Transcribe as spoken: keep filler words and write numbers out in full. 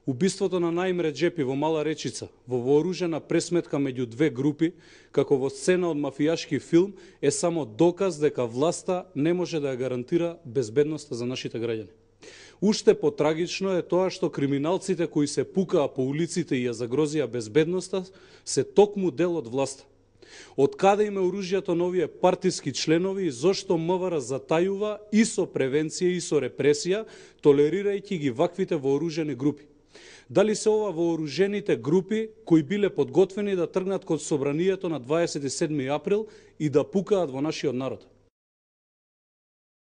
Убиството на Наим Реджепи во Мала Речица, во вооружена пресметка меѓу две групи, како во сцена од мафијашки филм, е само доказ дека власта не може да ја гарантира безбедноста за нашите граѓани. Уште потрагично е тоа што криминалците кои се пукаа по улиците и ја загрозија безбедноста се токму дел од власта. Од каде им е оружјето на овие партиски членови и зошто МВР затајува и со превенција и со репресија, толерирајќи ги ваквите вооружени групи? Дали се ова вооружените групи кои биле подготвени да тргнат кон собранието на дваесет и седми април и да пукаат во нашиот народ?